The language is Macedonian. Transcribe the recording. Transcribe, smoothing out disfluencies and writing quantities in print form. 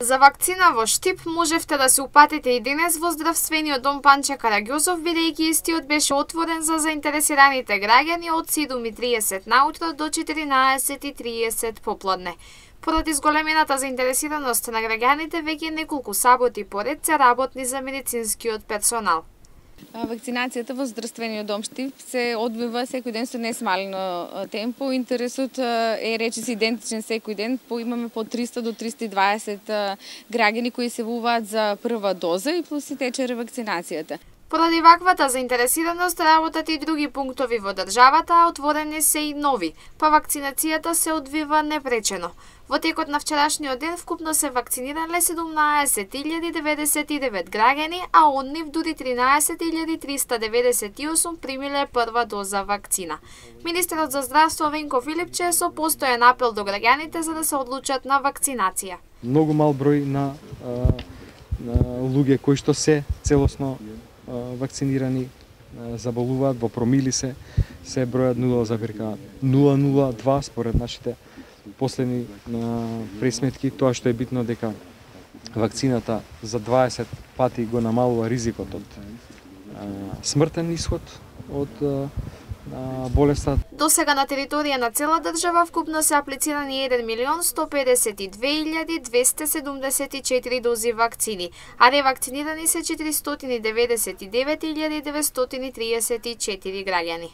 За вакцина во штип можевте да се упатите и денес во здравствениот дом Панче Караѓозов, бидејќи истиот беше отворен за заинтересираните граѓани од 7:30 наутро до 14:30 попладне. Поради зголемената заинтересираност на граѓаните, веќе неколку саботи поред се работни за медицинскиот персонал. Вакцинацијата во здравствениот дом Штип се одвива секој ден со несмалено темпо. Интересот е речиси идентичен секој ден. Имаме по 300 до 320 граѓани кои се вуваат за прва доза и плюс и тече ревакцинацијата. Поради ваквата заинтересираност работат и други пунктови во државата, а отворени се и нови, па вакцинацијата се одвива непречено. Во текот на вчерашниот ден вкупно се вакцинирале 17.099 граѓани, а од нив дури 13.398 примиле прва доза вакцина. Министерот за здравство Венко Филипче со постојан апел до граѓаните за да се одлучат на вакцинација. Многу мал број на луѓе кои што се целосно вакцинирани заболуваат, во промили се бројат 0,002 според нашите последни пресметки. Тоа што е битно дека вакцината за 20 пати го намалува ризикот од смртен исход од болеста. До сега на територија на цела држава вкупно се аплицирани 1.152.274 дози вакцини, а ревакцинирани се 499.934 граѓани.